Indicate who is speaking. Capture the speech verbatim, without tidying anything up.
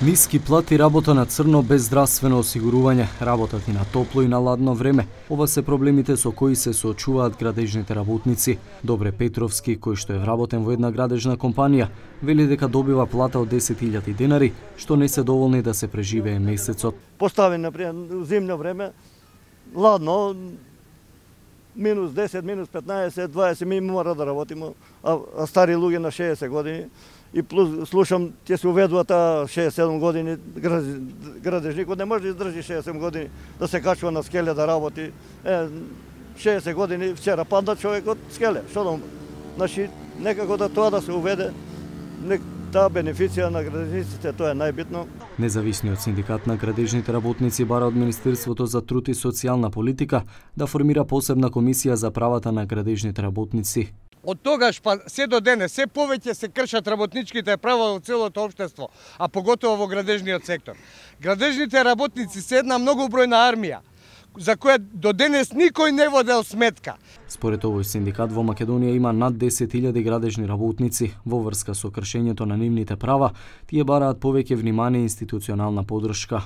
Speaker 1: Ниски плати, работа на црно без здравствено осигурување, работат и на топло и на ладно време. Ова се проблемите со кои се соочуваат градежните работници. Добре Петровски, кој што е вработен во една градежна компанија, вели дека добива плата од десет илјади денари, што не се доволни да се преживее месецот.
Speaker 2: Постави например зимно време, ладно, минус десет, минус петнаесет, дваесет, ми мора да работиме, а, а стари луѓе на шеесет години. И плюс слушам, ќе се уведува таа шеесет седум години, градежникот не може да издржи шеесет седум години да се качува на скеле да работи. Е, шеесет години вчера падна човекот скеле, што да. Значи, некако да тоа да се уведе, таа бенефиција на градежниците, тоа е најбитно.
Speaker 1: Независниот синдикат на градежните работници бара од Министерството за труд и социјална политика да формира посебна комисија за правата на градежните работници.
Speaker 3: Од тогаш па се до денес се повеќе се кршат работничките права во целото општество, а поготово во градежниот сектор. Градежните работници се една многобројна армија, за која до денес никој не водел сметка.
Speaker 1: Според овој синдикат во Македонија има над десет илјади градежни работници. Во врска со кршењето на нивните права, тие бараат повеќе внимание и институционална поддршка.